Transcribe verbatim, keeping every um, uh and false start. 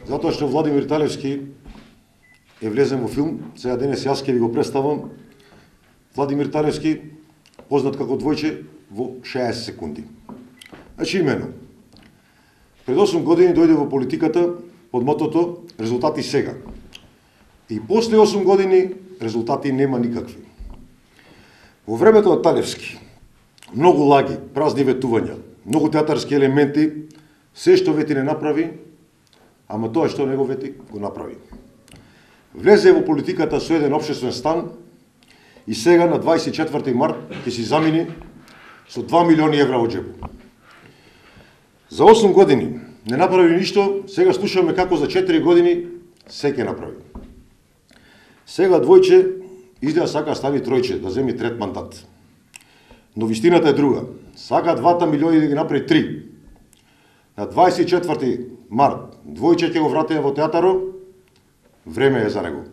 Затоа што Владимир Талевски е влезен во филм, сега денес јас ќе ви го представам. Владимир Талевски, познат како Двојче, во шеесет секунди. Значи имено, пред осум години дојде во политиката под мотото резултати сега. И после осум години резултати нема никакви. Во времето на Талевски, многу лаги, празни ветувања, многу театарски елементи, се што вети не направи, ама тоа што не го вети, го направи. Влезе во политиката со еден општествен стан и сега на дваесет и четврти март ќе си замени со два милиони евра во џебу. За осум години не направи ништо, сега слушаме како за четири години се ќе направи. Сега Двојче изгледа сака стави тројче, да земи трет мандат. Но вистината е друга. Сака двата милиони да ги направи три. На дваесет и четврти март Двојче ќе го вратиме во театарот, време е за него.